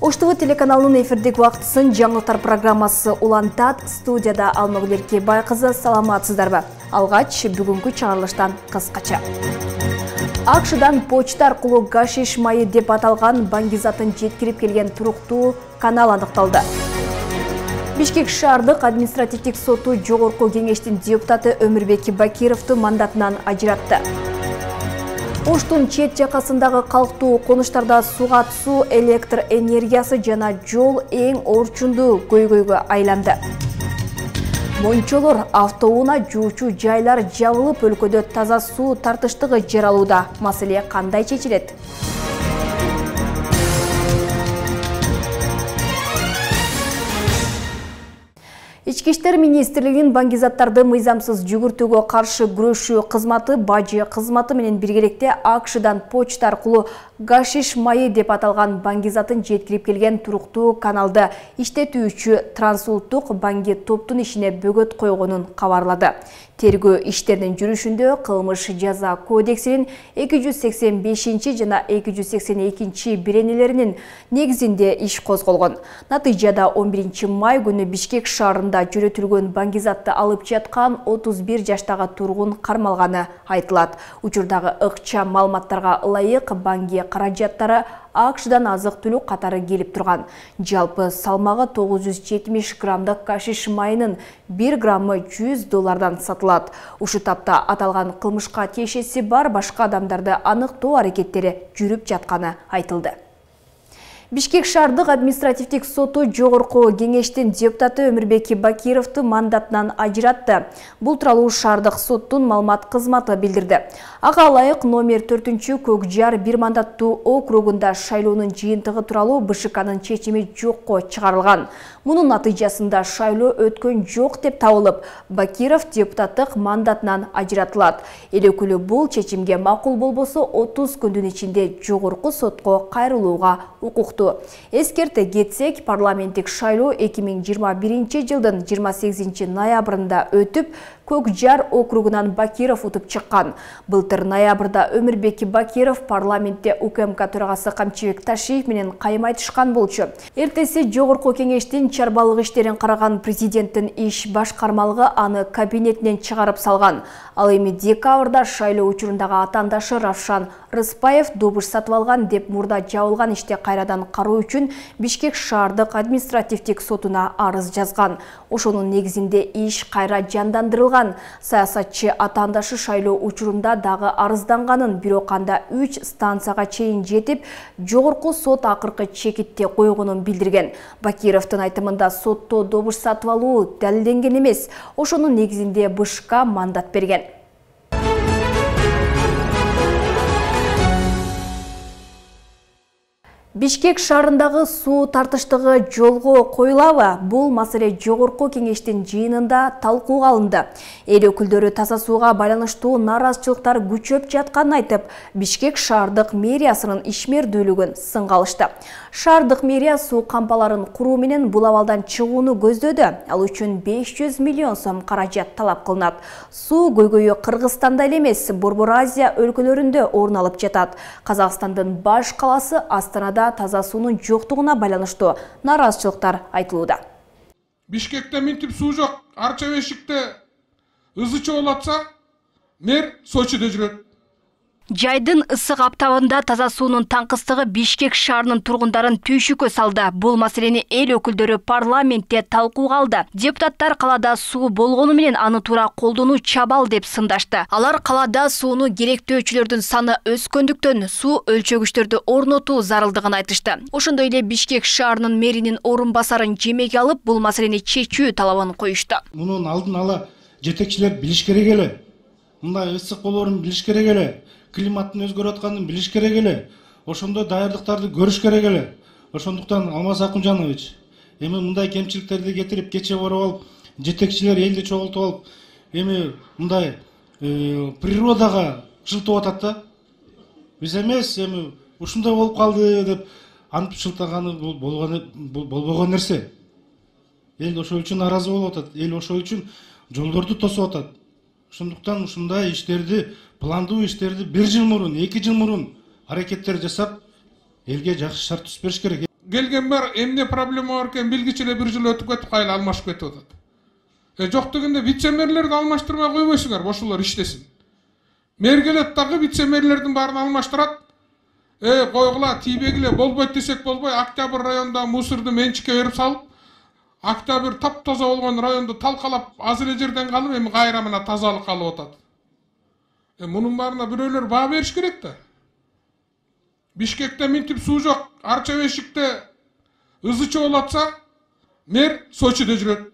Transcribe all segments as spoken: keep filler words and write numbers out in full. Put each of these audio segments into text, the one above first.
Ош ТВ телеканалынын эфирдик убактысын жаңылыктар программасы улантат. Студияда Алмагүл Эркебай кызы, саламатсыздарбы? Алгач бүгүнкү чыгарылыштан кыскача. АКШдан почта аркылуу гашиш майы деп аталган баңгизатын жеткирип келген туруктуу канал аныкталды. Бишкек шаардык административдик соту жогорку кеңештин депутаты Өмүрбек Бакировду мандатынан ажыратты. Оштун чет жакасындагы калктуу конуштарда суга суу, электр энергиясы жана жол эң орчундуу көйгөйгө айланды. Мончолор, автоунаа жуучу жайлар жабылып, өлкөдө таза суу тартыштыгы жаралууда. Маселе кандай чечилет? Ички иштер министрлигинин баңгизаттарды мыйзамсыз жүгүртүүгө каршы күрөшүү кызматы бажы кызматы менен биргеликте АКШдан почта аркылуу гашиш майы деп аталган баңгизатын жеткирип келген туруктуу каналды иштетүүчү Трансулуттук Баңги топтун ишине бөгөт койгонун кабарлады. Тергөө иштеринин жүрүшүндө кылмыш жаза кодексинин эки жүз сексен бешинчи жана эки жүз сексен экинчи беренелеринин негизинде иш козголгон. Натыйжада он биринчи май күнү Бишкек шаарында жүрөтүлгөн баңгизатты алып жаткан отуз бир жаштагы тургун кармалганы айтылат. Учурдагы ыкчам маалыматтарга ылайык Баңги каражаттары АКШдан азык-түлүк катары келип турган. Жалпы салмагы тогуз жүз жетимиш граммдык гашиш майынын бир граммы жүз доллардан сатылат. Ушу тапта аталган кылмышка тиешеси бар башка адамдарды аныктоо аракеттери жүрүп жатканы айтылды. Бишкек шаардык административдик соту жогорку кеңештин депутаты Өмүрбек Бакировду мандатынан ажыратты. Бул тууралуу шаардык соттун маалымат кызматы билдирди. Ага ылайык номер төртүнчү Көк Жар бир мандаттуу округунда шайлоонун жыйынтыгы тууралуу БШКнын чечими жокко чыгарылган. Мунун натыйжасында шайлоо өткөн жок деп табылып, Бакиров депутаттык мандатынан ажыратылат. Эл өкүлү бул чечимге макул болбосо отуз күндүн ичинде жогорку сотко кайрылууга укуктуу. Эскерте кетсек, парламенттик шайлоо эки миң жыйырма биринчи жылдын жыйырма сегизинчи ноябрында өтүп, Көк Жар округунан Бакиров утуп чыккан. Былтыр ноябрда Өмүрбек Бакиров парламентте УКМК төрагасы Камчыбек Ташиев менен кайым айтышкан болчу. Эртеси жогорку кеңештин чарбалык иштерин караган президенттин иш башкармалыгы аны кабинетинен чыгарып салган. Ал эми декабрда шайлоо учурундагы атаандашы Равшан Рыспаев добуш сатып алган деп мурда жабылган иште кайрадан кароо үчүн Бишкек шаардык административдик сотуна арыз жазган. Ошонун негизинде иш кайра жандандырылган. Саясатчы атаандашы шайлоо учурунда дагы арызданганын, бирок анда үч станцияга чейин жетип, жогорку сот акыркы чекитте койгонун билдирген. Бакировдун айтымында сотто добуш сатып алуу далилденген эмес. Ошонун негизинде БШК мандат берген. Бишкек шаарындагы суу тартыштыгы жолго коюлабы? Бул маселе жогорку кеңештин жыйынында талкууга алынды. Эл өкүлдөрү таза сууга байланыштуу нааразычылыктар күчөп жатканын айтып, Бишкек шаардык мэриясынын ишмердүүлүгүн сынга алышты. Шаардык мэрия суу кампаларын куруу менен бул абалдан чыгууну көздөдү. Ал үчүн беш жүз миллион сом каражат талап кылынат. Суу көйгөйү Кыргызстанда эле эмес, Борбор Азия өлкөлөрүндө орун алып жатат. Казакстандын баш калаасы Астанада таза суунун жоктугуна байланыштуу нааразычылыктар айтылууда. Бишкекте минтип суу жок, Арча Бешикте ызы чогулуп атса, мэр Сочиде жүрөт. Жайдын ысык аптабында таза суунун таңкыстыгы Бишкек шаарынын тургундарын түйшүккө салды. Бул маселени эл өкүлдөрү парламентте талкууга алды. Депутаттар калада суу болгону менен аны туура колдонуу чабал деп сындашты. Алар калада сууну керектөөчүлөрдүн саны өскөндүктөн суу өлчөгүчтөрдү орнотуу зарылдыгын айтышты. Ошондой эле Бишкек шаарынын мэринин орун басарын жемеге алып, бул маселени чечүү талабын коюшту. Мунун алдын ала жетекчилер билиш керек эле. Мындай ысык болоорун билиш керек эле. Климаттын өзгөрүп атканын билиш керек эле. Ошондой даярдыктарды көрүш керек эле. Ошондуктан Алмаз Акунжанович, эми мындай кемчиликтерди кетирип кече барып алып, жетекчилер элди чогултуп алып, эми мындай природага жылтып атат да. Биз эмес, эми ушундай болуп калды деп антип шылтаганы болбогон нерсе. Эл ошол үчүн наразы болуп атат. Эл ошол үчүн жолдорду тосуп атат. Ошондуктан ушундай иштерди, пландуу иштерди бир жыл мурун, эки жыл мурун аракеттер жасап, элге жакшы шарт түзүп бериш керек. келген бар, эмне проблема бар экен билгичи эле бир жыл өтүп кетип кайла алмашып кетип атат. Э жок дегенде вице-мэрлерди алмаштырмай койбойсуңар, ошолор иштесин. Мэр келет дагы вице-мэрлердин баарын алмаштырат. Э койгула, тийбегиле, болбойт десек болбой, Октябрь районундагы мусорду менчикке берип салып, Октябрь таптаза болгон районду талкалап, азыр эле жерден калып, эми кайра мына тазалык калып атат. Э мунун баарына бирөөлөр баа бериш керек да. Бишкекте минтип суу жок, Арча бешикте ызы чогулуп атса, мэр Сочиде жүрөт.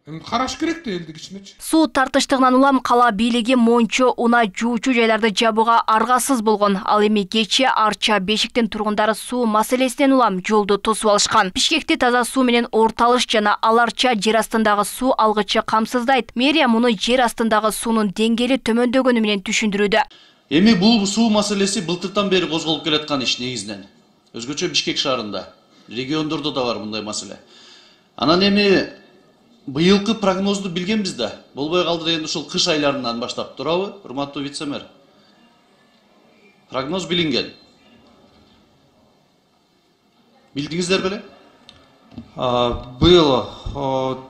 Эми караш керек да элдик ичинечи. Суу тартыштыгынан улам кала бийлиги Мончо, Уна жуучу жайларды жабууга аргасыз болгон. Ал эми кечээ Арча бешиктин тургундары суу маселесинен улам жолду тосуп алышкан. Бишкекти таза суу менен орталыш жана Ал Арча жер астындагы суу алгычы камсыздайт. Мэрия муну жер астындагы суунун деңгээли төмөндөгөнү менен түшүндүрүүдө. Эми бул суу маселеси былтыртан бери козголуп келаткан иш негизинен. Өзгөчө Бишкек шаарында, региондордо да бар мындай маселе. Анан эми быйылкы прогнозду билгенбиз да. Болбой калды дегенде ушул кыш айларынан баштап, туурабы, урматтуу вице-мэр? Прогноз билинген. Билдиңиздер беле? Быйыл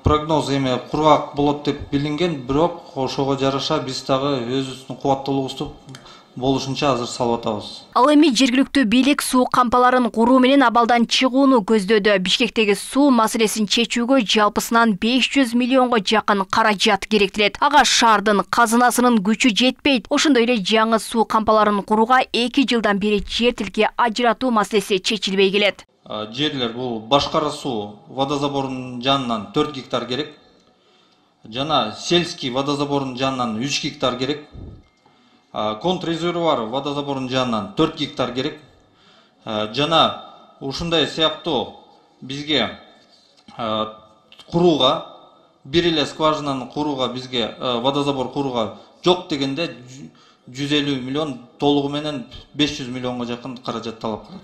прогноз эми кургак болот деп билинген, бирок ошого жараша биз дагы өзүбүздүн кубаттуулугубузду болушунча азыр салып атабыз. Ал эми жергиликтүү бийлик суу кампаларын куруу менен абалдан чыгууну көздөдү. Бишкектеги суу маселесин чечүүгө жалпысынан беш жүз миллионго жакын каражат керектелет. Ага шаардын казынасынын күчү жетпейт. Ошондой эле жаңы суу кампаларын курууга эки жылдан бери жер тилке ажыратуу маселеси чечилбей келет. Жерлер бул башкара суу водозаборунун жанынан төрт гектар керек. Жана сельский водозаборунун жанынан үч гектар керек. Контррезервуар водозаборунун жанынан төрт гектар керек. Жана ушундай сыяктуу бизге курууга, бир эле скважинаны курууга, бизге водозабор курууга жок дегенде жүз элүү миллион, толугу менен беш жүз миллионго жакын каражат талап кылат.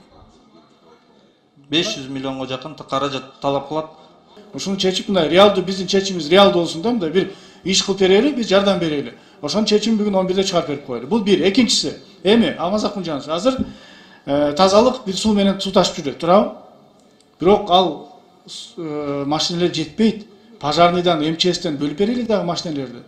беш жүз миллионго жакын каражат талап кылат. Ушуну чечип мындай реалдуу, биздин чечимибиз реалдуу болсун да, мындай бир иш кылып берели, биз жардам берели. Ошонун чечимин бүгүн он бирде чыгарып берип коелу. Бул бир. Экинчиси, эми Алмазак мыйжанович, азыр тазалык бир суу менен суу ташып жүрөт, туурабы? Бирок ал машиналар жетпейт. Пожарныйдан, эм че эстен бөлүп берели дагы машиналарды.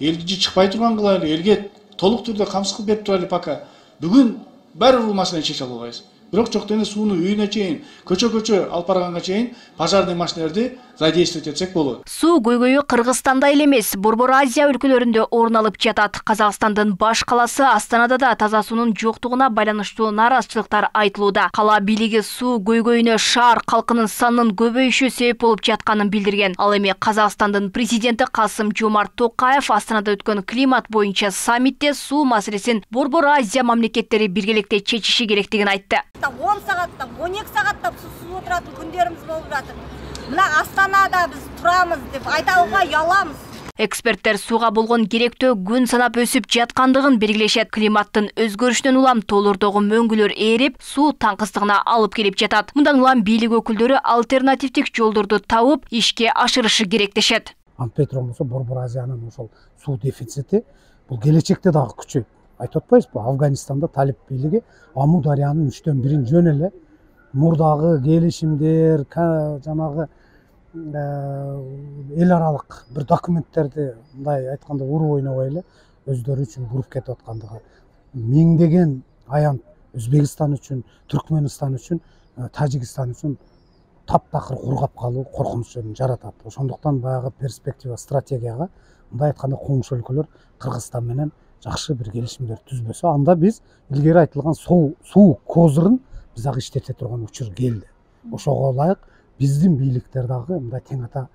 Элди чыкпай турган кылайлы, элге толук түрдө камсыз кылып берип турайлы пока. Бүгүн баары бул маселени чече албайбыз. Бирок жок дегенде сууну үйүнө чейин, көчө-көчө алып барганга чейин пожарный машиналарды задействовать этсек болот. Суу көйгөйү Кыргызстанда эле эмес, Борбор Азия өлкөлөрүндө орун алып жатат. Казакстандын баш каласы Астанада да таза суунун жоктугуна байланыштуу нааразычылыктар айтылууда. Кала бийлиги суу көйгөйүнө шаар калкынын санынын көбөйүшү себеп болуп жатканын билдирген. Ал эми Казакстандын президенти Касым-Жомарт Токаев Астанада өткөн климат боюнча саммитте суу маселесин Борбор Азия мамлекеттери биргеликте чечиши керектигин айтты. он сааттап, он эки сааттап суу туратын күндөрүбүз болуп жатыр. Мына Астанада биз турамыз деп айтууга уяламыз. Эксперттер сууга болгон керектөө күн санап өсүп жаткандыгын белгилешет. Климаттын өзгөрүшүнөн улам тоолордогу мөңгүлөр ээрип, суу таңкыстыгына алып келип жатат. Мындан улам бийлик өкүлдөрү альтернативдик жолдорду табып, ишке ашырышы керек дешет. Антпетро болсо Борбор Азиянын ошол суу дефицити бул келечекте дагы күчөйт. Айтып атпайбызбы, Афганистанда талип бийлиги Аму дарыянын үчтөн бирин жөн эле мурдагы келишимдер, жанагы эл аралык бир документтерди мындай айтканда уруп ойнобой эле өздөрү үчүн буруп кетип аткандыгы миңдеген аян Өзбекстан үчүн, Түркмөнстан үчүн, Тажикстан үчүн таптакыр кургап калуу коркунучун жаратат. Ошондуктан баягы перспектива стратегияга мындай айтканда коңшу өлкөлөр Кыргызстан менен жакшы бир келишимдер түзбөсө, анда биз илгери айтылган суу суу козурун биз дагы иштете турган учур келди. Ошого ылайык биздин бийликтер дагы мындай тең ата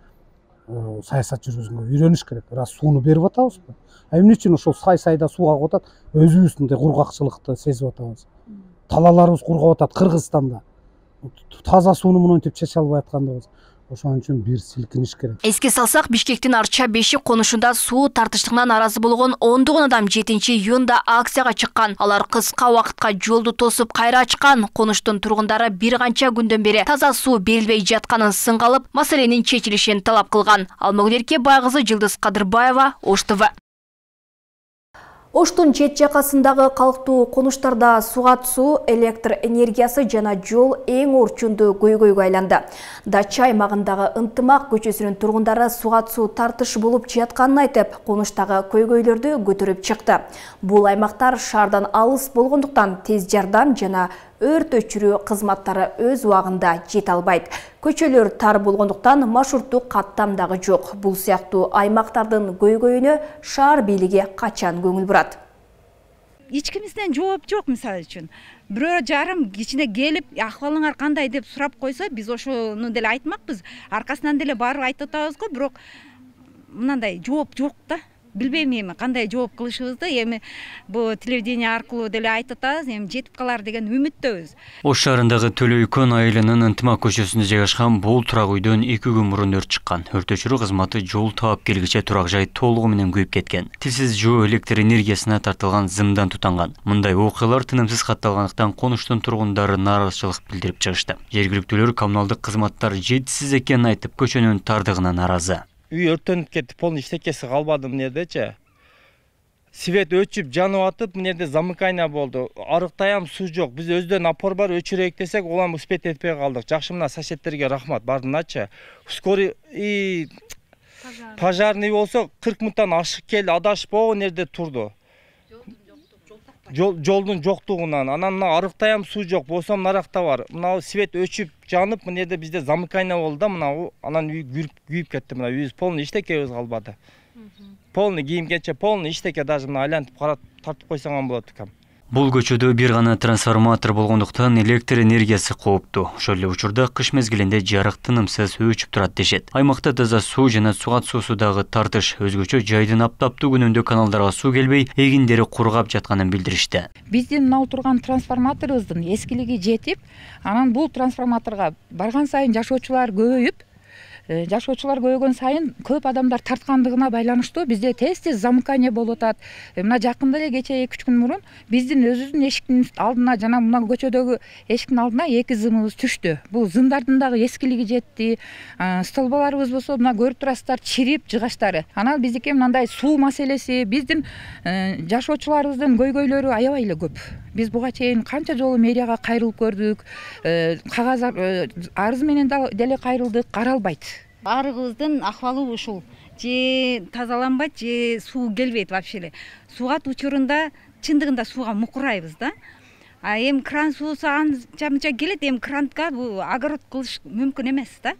саясат жүргүзүүгө үйрөнүш керек. Раз сууну берип атабызбы? А эмне үчүн ошол сай-сайда суу агып атат? Өзүбүз мындай кургакчылыкты сезип атабыз. Талаларыбыз кургап атат Кыргызстанда. Таза сууну мынтип чече албай аткандыгыбыз. Ошон үчүн бир силкиниш керек. Эске салсак, Бишкектин Арча бешик конушунда суу тартыштыгынан наразы болгон ондогон адам жетинчи июнда акцияга чыккан. Алар кыска убакытка жолду тосуп кайра ачкан. Конуштун тургундары бир канча күндөн бери таза суу берилбей жатканын сынга алып, маселенин чечилишин талап кылган. Алмагүл Эркебай кызы, Жылдыз Кадырбаева, Ош ТВ. Оштун чет жакасындагы калктуу конуштарда сугат суу, электр энергиясы жана жол эң орчундуу көйгөйгө айланды. Дача аймагындагы Ынтымак көчөсүнүн тургундары сугат суу тартыш болуп жатканын айтып, конуштагы көйгөйлөрдү көтөрүп чыкты. Бул аймактар шаардан алыс болгондуктан тез жардам жана өрт өчүрүү кызматтары өз убагында жете албайт. Көчөлөр тар болгондуктан маршруттук каттам дагы жок. Бул сыяктуу аймактардын көйгөйүнө шаар бийлиги качан көңүл бурат? Эч кимизден жооп жок, мисалы үчүн. Бирөө жарым кичине келип, акыбалыңар кандай деп сурап койсо, биз ошону деле айтмакпыз. Аркасынан деле барып айтып атабыз го, бирок мындай жооп жок да. Билбейм эми кандай жооп кылышыбызды, эми бу телевидение аркылуу деле айтып атабыз, эми жетип калар деген үмүттөбүз. Ош шаарындагы Төлөйкөн айылынын Ынтымак көчөсүндө жайгашкан бул турак үйдөн эки күн мурун өрт чыккан. Өрт өчүрүү кызматы жол таап келгиче турак жай толугу менен күйүп кеткен. Тилсиз жөө электр энергиясына тартылган зымдан тутанган. Мындай окуялар тынымсыз катталгандыктан конуштун тургундары нааразычылык билдирип чыгышты. Жергиликтүүлөр коммуналдык кызматтар жетишсиз экенин айтып, көчөнүн тардыгына нааразы. Үй өрттөнүп кетти, полный эчтекеси калбады мына жердечи. Свет өчүп, жанып атып, мына жерде замыкание болду. Арыктаям суу жок. Биз өздөн апор бар, өчүрөйүк десек, улам успеть этпей калдык. Жакшы, мына соседтерге рахмат, бардыңачы. Скорый и пожарный болсо кырк минуттан ашык келди, адашпоо нерде турду. Жолдун жоктугунан, анан мына арыктаям суу жок, болсо наракта бар. Мына свет өчүп, жанып, мына жерде бизде замыкание болду да, мына анан үй күйүп кетти, мына үйүбүз полный эчтекебиз калбады. Полный кийим-кече, полный эчтеке, даже мына айлантып карап тартып койсоң болот экен. Бул көчөдө бир гана трансформатор болгондуктан электр энергиясы кооптуу. Ошол эле учурда кыш мезгилинде жарык тынымсыз өчүп турат дешет. Аймакта таза суу жана сугат суусу дагы тартыш. Өзгөчө жайдын аптаптуу күнүндө каналдарга суу келбей, эгиндери кургап жатканын билдиришти. Биздин мына турган трансформаторубуздун эскилиги жетип, анан бул трансформаторго барган сайын жашоочулар көбөйүп, жашоочулар көбөйгөн сайын көп адамдар тарткандыгына байланыштуу бизде тез-тез замыкание болуп атат. Мына жакында эле кече эки үч күн мурун биздин өзүбүздүн эшиктин алдына жана мына көчөдөгү эшиктин алдына эки зымыбыз түштү. Бул зымдардын дагы эскилиги жетти. Столбаларыбыз болсо мына көрүп турасыздар, чирип жыгачтары. Анан биздики мындай суу маселеси, биздин жашоочуларыбыздын көйгөйлөрү аябай эле көп. Биз буга чейин канча жолу мэрияга кайрылып көрдүк, кагаз арыз менен деле кайрылдык, каралбайт. Арыгыбыздын акыбалы ушул. Же тазаланбайт, же суу келбейт вообще эле. Сугат учурунда чындыгында сууга мукурайбыз да. А эми кран суусу анча-мынча келет, эми кранга бул огород кылыш мүмкүн эмес да.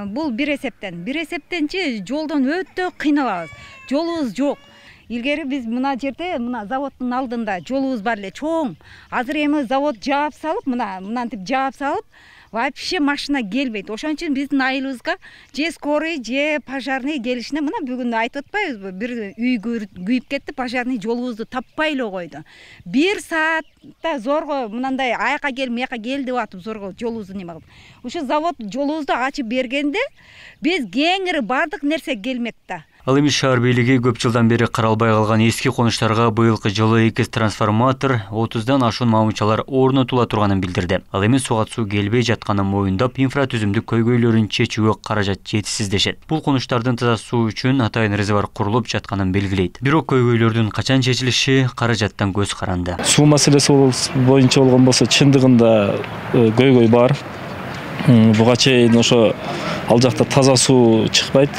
Бул бир эсептен. Бир эсептенчи жолдон өтө кыйналабыз. Жолубуз жок. Илгери биз мына жерде, мына заводдун алдында жолубуз бар эле чоң. Азыр эми завод жаап салып, мына мынантип жаап салып, вообще машина келбейт. Ошон үчүн биздин айылыбызга же скорый, же пожарный келишине, мына бүгүн айтып атпайбызбы? Бир үй күйүп кетти, пожарный жолубузду таппай эле койду. Бир саатта зорго мындай аяка кел, мияка кел деп атып зорго жолубузду неме кылып. Ушу завод жолубузду ачып бергенде биз кеңири бардык нерсе келмек да. Ал эми шаар бийлиги көп жылдан бери каралбай калган эски конуштарга быйылкы жылы эки трансформатор, отуздан ашуун мамычалар орнотула турганын билдирди. Ал эми сугат суу келбей жатканын моюндап, инфратүзүмдүк көйгөйлөрүн чечүүгө каражат жетишсиз дешет. Бул конуштардын таза суу үчүн атайын резервуар курулуп жатканын белгилейт. Бирок көйгөйлөрдүн качан чечилиши каражаттан көз каранды. Суу маселеси боюнча болгон болсо чындыгында көйгөй бар. Буга чейин ошо ал жакта таза суу чыкпайт.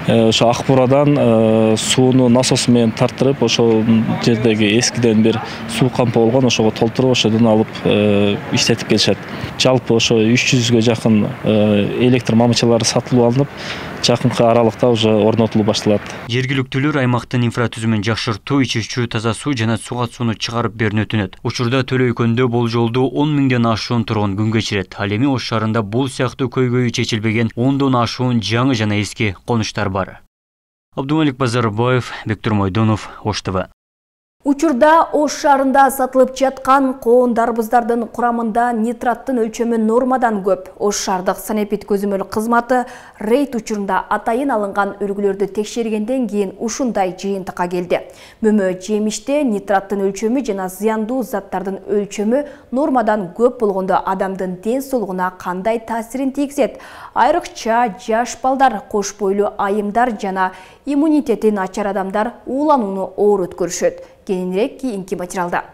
Ошо Акбурадан сууну насос менен тартырып, ошол жердеги эскиден бир суу кампы болгон, ошого толтуруп, ошодон алып иштетип келишет. Жалпы ошо үч жүзгө жакын электр мамычалары сатылып алынып, жакынкы аралыкта уже орнотулуп башталат. Жергиликтүүлөр аймактын инфратүзүмүн жакшыртуу, ичүүчү таза суу жана сугат сууну чыгарып берүүнү өтүнөт. Учурда Төлөйкөндө болжолдуу он миңден ашуун тургун күн кечирет. Ал эми Ош шаарында бул сыяктуу көйгөйү чечилбеген ондон ашуун жаңы жана эски конуштар бар. Абдумалик Базарбаев, Бектур Мойдонов, Ош ТВ. Учурда Ош шаарында сатылып жаткан коон дарбыздардын курамында нитраттын өлчөмү нормадан көп. Ош шаардык санэпид көзөмөл кызматы рейд учурунда атайын алынган үлгүлөрдү текшергенден кийин ушундай жыйынтыкка келди. Мөмө жемиште нитраттын өлчөмү жана зыяндуу заттардын өлчөмү нормадан көп болгондо адамдын ден соолугуна кандай таасирин тийгизет? Айрыкча жаш балдар, кош бойлуу айымдар жана иммунитети начар адамдар ууланууну оор өткөрүшөт. Кененирээк кийинки материалда.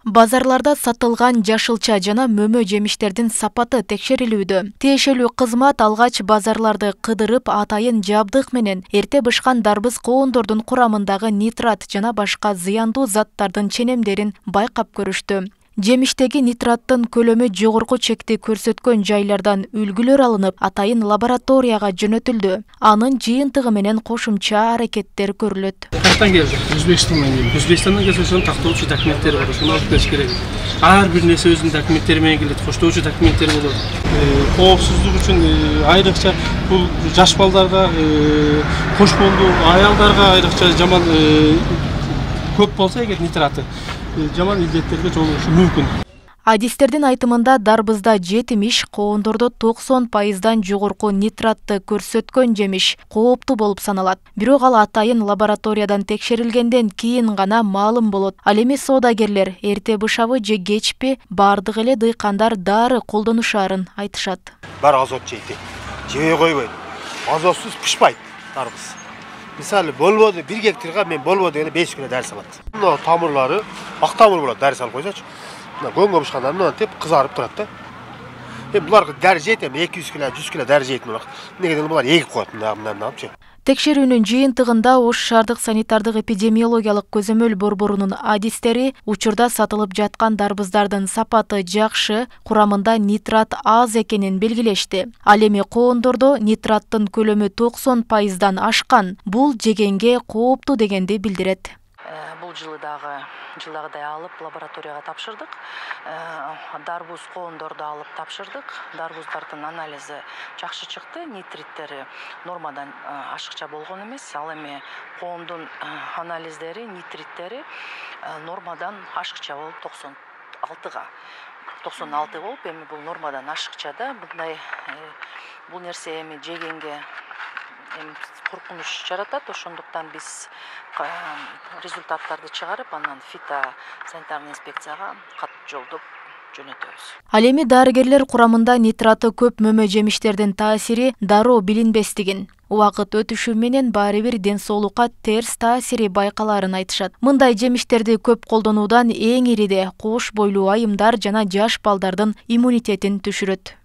Базарларда сатылган жашылча жана мөмө жемиштердин сапаты текшерилүүдө. Тиешелүү кызмат алгач базарларды кыдырып атайын жабдык менен эрте бышкан дарбыз коондордун курамындагы нитрат жана башка зыяндуу заттардын ченемдерин байкап көрүштү. Жемиштеги нитраттын көлөмү жогорку чекти көрсөткөн жайлардан үлгүлөр алынып, атайын лабораторияга жөнөтүлдү. Анын жыйынтыгы менен кошумча аракеттер көрүлөт. Кайдан келди? Өзбекстандан келди. Өзбекстандан келсе ошонун тактоочу документтери бар. Ошону алып келиш керек. Ар бир нерсе өзүнүн документтери менен келет. Коштоочу документтери болот. Коопсуздук үчүн айрыкча бул жаш балдарга, кош бойлуу аялдарга айрыкча жаман көп болсо эгер нитраты жаман илдеттерге жолугушу мүмкүн. Адистердин айтымында дарбызда жетимиш, коондордо токсон пайыздан жогорку нитратты көрсөткөн жемиш кооптуу болуп саналат. Бирок ал атайын лабораториядан текшерилгенден кийин гана маалым болот. Ал эми соодагерлер эрте бышабы же кечпи бардык эле дыйкандар дары колдонушаарын айтышат. Бар азот жейт. Жебей койбойт. Азотсуз пышпайт дарбыз. Мисалы болбоду бир гектарга мен болбоду дегенде беш күнө дары салат. Мына тамырлары ак тамыр болот, дары салып койсочу. Мына көңгө бышканда мына теп кызарып турат да. Эми буларга дары жейт, эми эки жүз кило, жүз кило дары жейт мына. Негеден булар эгип коет мындай-мындайчы. Текшерүүнүн жыйынтыгында Ош шаардык санитардык эпидемиологиялык көзөмөл борборунун адистери учурда сатылып жаткан дарбыздардын сапаты жакшы, курамында нитрат аз экенин белгилешти. Ал эми коондордо нитраттын көлөмү токсон пайыздан ашкан. Бул жегенге кооптуу дегенди билдирет. Бул жылы дагы жылдагыдай алып лабораторияга тапшырдык. Дарбуз коондорду алып тапшырдык. Дарбуздардын анализи жакшы чыкты. Нитриттери нормадан ашыкча болгон эмес. Ал эми коондун анализдери, нитриттери нормадан ашыкча болуп токсон алтыга. токсон алты болуп, эми бул нормадан ашыкча да. Мындай бул нерсе эми жегенге коркунуч жаратат. Ошондуктан биз результаттарды чыгарып, анан фитосанитарный инспекцияга кат жолдоп жөнөтөбүз. Ал эми дарыгерлер курамында нитраты көп мөмө жемиштердин таасири дароо билинбестигин, убакыт өтүшү менен баары бир ден соолукка терс таасири байкаларын айтышат. Мындай жемиштерди көп колдонуудан эң ириде кош бойлуу айымдар жана жаш балдардын иммунитетин түшүрөт.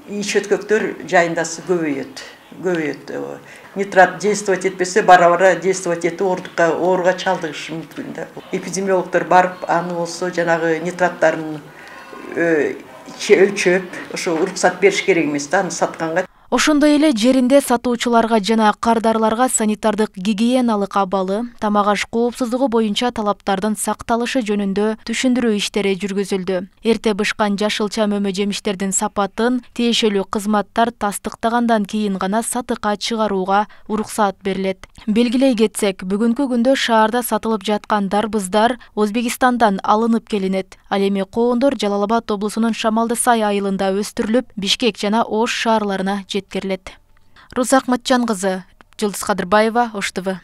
Ич өткөктөр жайындасы көбөйөт. көбөйөт. Нитрат действовать этпесе, бара-бара действовать этип оорукка ооруга чалдыгышы мүмкүн да. Эпидемиологдор барып, аны болсо жанагы нитраттарын өлчөп, ошо уруксат бериш керек эмес да, аны сатканга. Ошондой эле жеринде сатуучуларга жана кардарларга санитардык гигиеналык абалы, тамак-аш коопсуздугу боюнча талаптардын сакталышы жөнүндө түшүндүрүү иштери жүргүзүлдү. Эрте бышкан жашылча мөмө жемиштердин сапатын тиешелүү кызматтар тастыктагандан кийин гана сатыкка чыгарууга уруксат берилет. Белгилей кетсек, бүгүнкү күндө шаарда сатылып жаткан дарбыздар Өзбекистандан алынып келинет. Ал эми коондор Жалал Абад облусунун Шамалдысай айылында өстүрүлүп, Бишкек жана Ош шаарларына жеткирилет. Руза Акматжан кызы, Жылдыз Кадырбаева, Ош ТВ.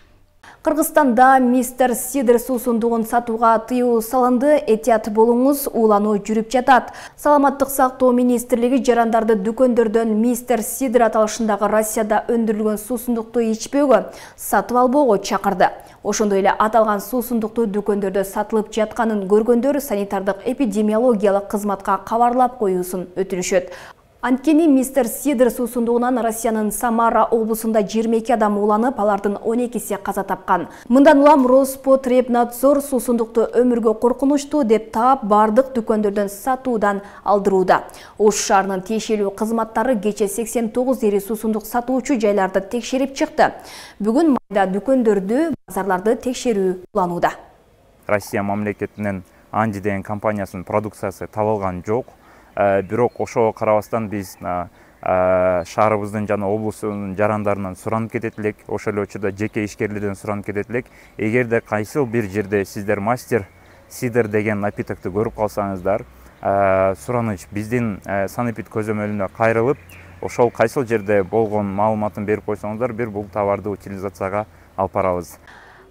Кыргызстанда мистер Сидр суусундугун сатууга тыюу салынды. Этият болуңуз, уулануу жүрүп жатат. Саламаттык сактоо министрлиги жарандарды дүкөндөрдөн мистер Сидр аталышындагы Россияда өндүрүлгөн суусундукту ичпөөгө, сатып албоого чакырды. Ошондой эле аталган суусундукту дүкөндөрдө сатылып жатканын көргөндөр санитардык эпидемиологиялык кызматка кабарлап коюусун өтүнүшөт. Анткени мистер Сидр суусундугунан Россиянын Самара облусунда жыйырма эки адам ууланып, алардын он экиси каза тапкан. Мындан улам Роспотребнадзор суусундукту өмүргө коркунучтуу деп таап, бардык дүкөндөрдөн сатуудан алдырууда. Ош шаарынын тиешелүү кызматтары кече сексен тогуз ири суусундук сатуучу жайларды текшерип чыкты. Бүгүн майда дүкөндөрдү, базарларды текшерүү уланууда. Россия мамлекетинен Анди деген компаниясынын продукциясы табылган жок. Бирок ошого карабастан биз шаарыбыздын жана облустун жарандарынан суранып кетет элек, ошол эле учурда жеке ишкерлерден суранып кетет элек. Эгерде кайсыл бир жерде сиздер мастер сидр деген напитокты көрүп калсаңыздар, сураныч биздин санэпид көзөмөлүнө кайрылып, ошол кайсыл жерде болгон маалыматын берип койсоңуздар, бир бул товарды утилизацияга алып барабыз.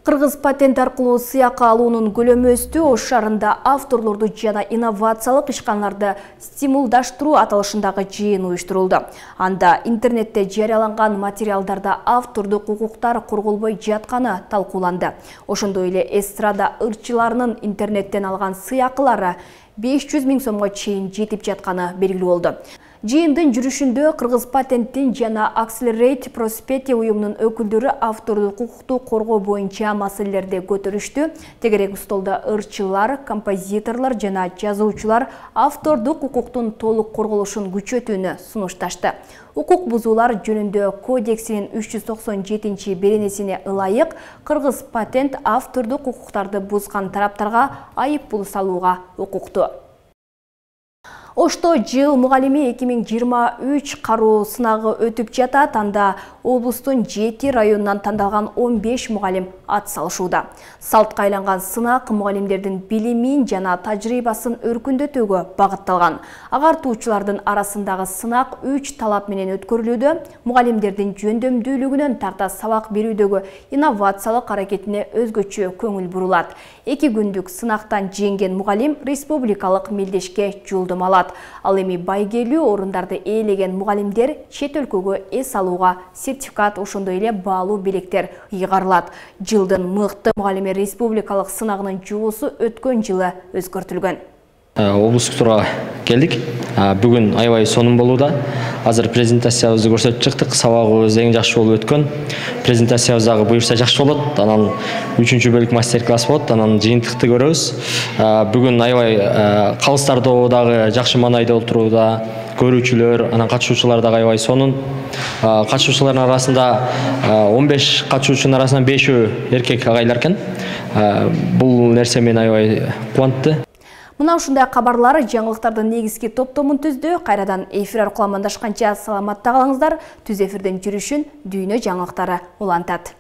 Кыргыз патент аркылуу сыйакы алуунун көлөмү өстү. Ош шаарында авторлорду жана инновациялык ишканаларды стимулдаштыруу аталышындагы жыйын уюштурулду. Анда интернетте жарыяланган материалдарда автордук укуктар корголбой жатканы талкууланды. Ошондой эле эстрада ырчыларынын интернеттен алган сыйакылары беш жүз миң сомго чейин жетип жатканы белгилүү болду. Жыйындын жүрүшүндө Кыргыз патенттин жана Accelerate Prosperity уюмунун өкүлдөрү автордук укукту коргоо боюнча маселелерди көтөрүштү. Тегерек столдо ырчылар, композиторлор жана жазуучулар автордук укуктун толук корголушун күчөтүүнү сунушташты. Укук бузуулар жөнүндө кодексинин үч жүз токсон жетинчи беренесине ылайык Кыргыз патент автордук укуктарды бузган тараптарга айып пул салууга укуктуу. Ошто жыл мугалими эки миң жыйырма үч кароо сынагы өтүп жатат. Анда облустун жети районунан тандалган он беш мугалим ат салышууда. Салтка айланган сынак мугалимдердин билимин жана тажрыйбасын өркүндөтүүгө багытталган. Агартуучулардын арасындагы сынак үч талап менен өткөрүлүүдө. Мугалимдердин жөндөмдүүлүгүнөн тарта сабак берүүдөгү инновациялык аракетине өзгөчө көңүл бурулат. Эки күндүк сынактан жеңген мугалим республикалык мелдешке жолдомо алат. Ал эми байгелүү орундарды ээлеген мугалимдер чет өлкөгө эс алууга сертификат, ошондой эле баалуу белектер ыйгарылат. Жылдын мыкты мугалими республикалык сынагынын жобосу өткөн жылы өзгөртүлгөн. Облустук турга келдик. Бүгүн аябай сонун болууда. Азыр презентациябызды көрсөтүп чыктык. Сабагыбыз эң жакшы болуп өткөн. Презентациябыз дагы буюрса жакшы болот. Анан үчүнчү бөлүк мастер-класс болот. Анан жыйынтыкты көрөбүз. Бүгүн аябай калыстар тобу дагы жакшы маанайда отурууда. Көрүүчүлөр, анан катышуучулар дагы аябай сонун. Катышуучулардын арасында он беш катышуучунун арасынан бешөө эркек агайлар экен. Бул нерсе мени аябай кубантты. Мына ушундай кабарлар жаңылыктардын негизги топтомун түздү. Кайрадан эфир аркылуу амандашканча саламатта калыңыздар. Түз эфирден жүрүшүн дүйнө жаңылыктары улантат.